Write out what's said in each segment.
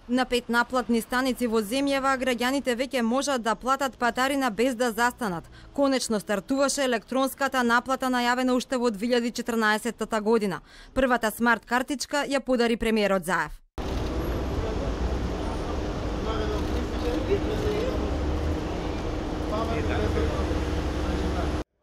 На 5 наплатни станици во земјава граѓаните веќе можат да платат патарина без да застанат. Конечно стартуваше електронската наплата најавена уште во 2014 година. Првата смарт картичка ја подари премиерот Заев.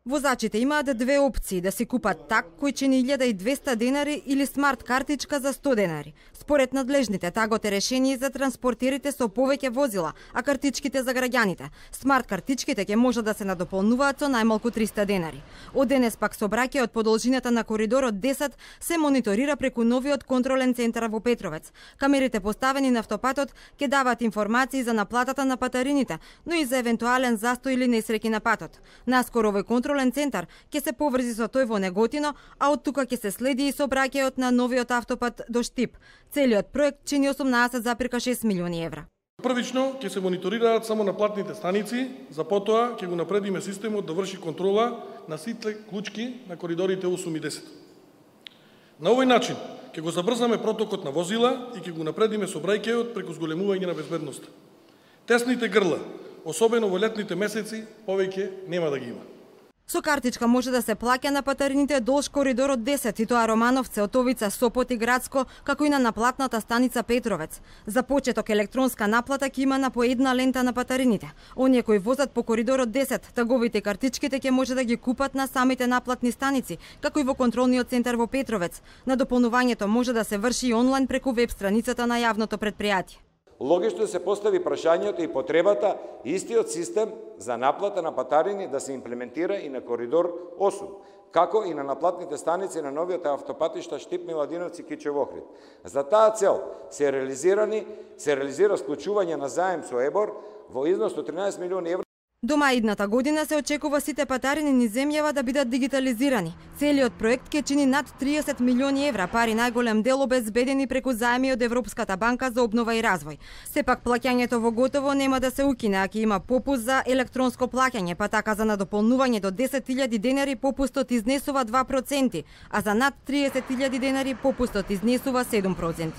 Возачите имаат две опции: да си купат так кој чини 1200 денари или смарт картичка за 100 денари. Според надлежните, тагот е решение за транспортерите со повеќе возила, а картичките за граѓаните. Смарт картичките ќе може да се надополнуваат со најмалку 300 денари. Од денес пак сообраќајот по должината на коридорот 10 се мониторира преку новиот контролен центар во Петровец. Камерите поставени на автопатот ќе даваат информации за наплатата на патарините, но и за евентуален застој или несреќи на патот. Наскоро овој контролен центар ќе се поврзи со тој во Неготино, а од тука ќе се следи и сообраќајот на новиот автопат до Штип. Целиот проект чини 18,6 милиони евра. Првично ќе се мониторираат само наплатните станици, за потоа ќе го напредиме системот да врши контрола на сите клучки на коридорите 8 и 10. На овој начин ќе го забрзаме протокот на возила и ќе го напредиме сообраќајот преку зголемување на безбедноста. Тесните грла, особено во летните месеци, повеќе нема да ги има. Со картичка може да се плаќа на патарините долж коридорот 10, и тоа Романовце, Отовица, Сопот и Градско, како и на наплатната станица Петровец. За почеток електронска наплата ќе има на по една лента на патарините. Оние кои возат по коридорот 10, таговите и картичките ќе може да ги купат на самите наплатни станици, како и во контролниот центар во Петровец. Надополнувањето може да се врши и онлайн преку веб страницата на јавното претпријатие. Логично се постави прашањето и потребата истиот систем за наплата на патарини да се имплементира и на коридор 8, како и на наплатните станици на новиот автопатишта Штип, Миладиновци, Кичев, Охрид. За таа цел се реализира склучување на заем со ЕБОР во износ од 13 милиони евра. До мај идната година се очекува сите патарини низ земјава да бидат дигитализирани. Целиот проект ќе чини над 30 милиони евра, пари најголем дел обезбедени преку заеми од Европската банка за обнова и развој. Сепак плаќањето во готово нема да се укине, а ќе има попуст за електронско плаќање, па така за надополнување до 10.000 денари попустот изнесува 2%, а за над 30.000 денари попустот изнесува 7%.